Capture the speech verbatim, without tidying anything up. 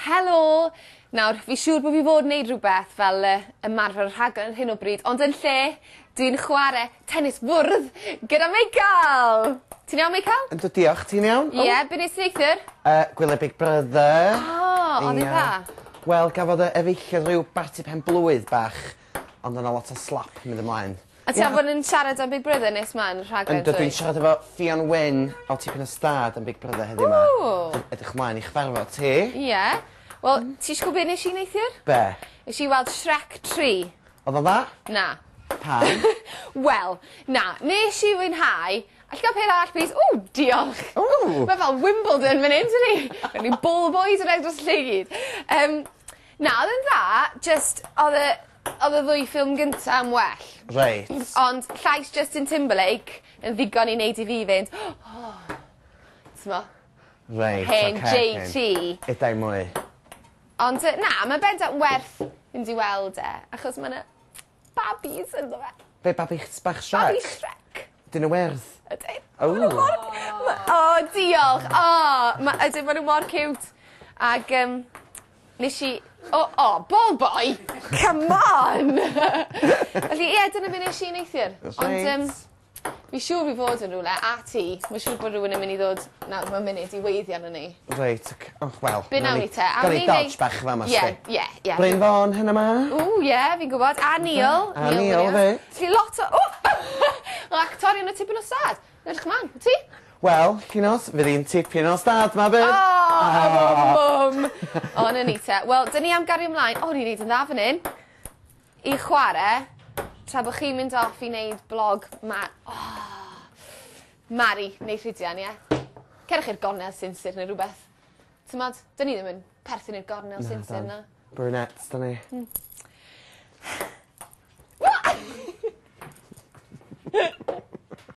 Helo! Nawr, fi siŵr bo' fi fod wneud rhywbeth fel yy ymarfer rhaglen ar hyn o bryd ond yn lle dwi'n chware tennis fwrdd gyda Meical! Ti'n iawn Meical? Yndw diolch, ti'n iawn? Ie, be' nes ti neithiwr? Yy gwylio Big Brother. O, o'dd e'n dda? Wel gafodd y efeilliad ryw barti pen blwydd bach ond o' 'na lot o slap mynd ymlaen. A ti am fod yn siarad am Big Brother nes mlaen y rhaglen Yndw dwi'n siarad efo Ffion Wyn o Tipyn o Stad am Big Brother heddiw 'ma. Ww. Dwi'n edrych mlaen i chyfarfod ti. Ie. Wel, ti isio gwbo be' nesh i neithiwr? Be'? Nesh i weld Shrek tri. O'dd o'n dda? Na. Pam? Wel, na, nesh i fwynhau Allai ga'l peth arall plîs? Ww, diolch. Ww. Ma' fel Wimbledon fan 'yn tydi? Gawn ni ball boys yn redeg dros y lle i gyd. Yym na o'dd e'n dda jyst o'dd y o'dd y ddwy ffilm gynta yn well. Reit. Ond llais Justin Timberlake yn ddigon i neud i fi fynd o t'mo'? Reit Hen oce. Jay Tee. Edai mwy. Ond yy na ma' bendant werth mynd i weld e achos ma' 'na babis ynddo fe. Be' babi bach Shrek? Babi Shrek. 'Dyn n'w werdd? Ydyn. O. Ma' n'w mor ma' o diolch o ma' ydyn ma' n'w mor ciwt. Ag yym nesh i o o ball boy come on! Felly ie dyna be' nesh i neithiwr. Reit. Ond yym fi siŵr fi fod yn rwle a ti ma' siŵr bod rywun yn myn' i ddod nawr mewn munud i weiddi arnon ni. Reit oce o wel. Be' nawn ni te? Awn Gawn ni ni dodge neud- bach fa' 'ma Ie sti. ie ie. Bryn Fôn heno 'ma. Ww ie fi'n gwbod a Neil. A Neil Williams. 'fyd. Felly lot o o! O actorion o tipyn o stad. Edrych mlan. Ti? Wel, Llinos, fydd 'i'n tipyn o stad 'ma bydd? O mum! O 'na ni te. Wel 'dyn ni am gario mlaen. O ni'n neud yn dda fan 'yn. I chware tra bo' chi'n mynd off i neud blog ma- o Mari neu Rhydian ie? Cerwch i'r gornel sinsir neu rwbeth. T'mod? 'Dyn ni ddim yn perthyn i'r gornel sinsir 'na. Brunettes 'dan ni. Hmm.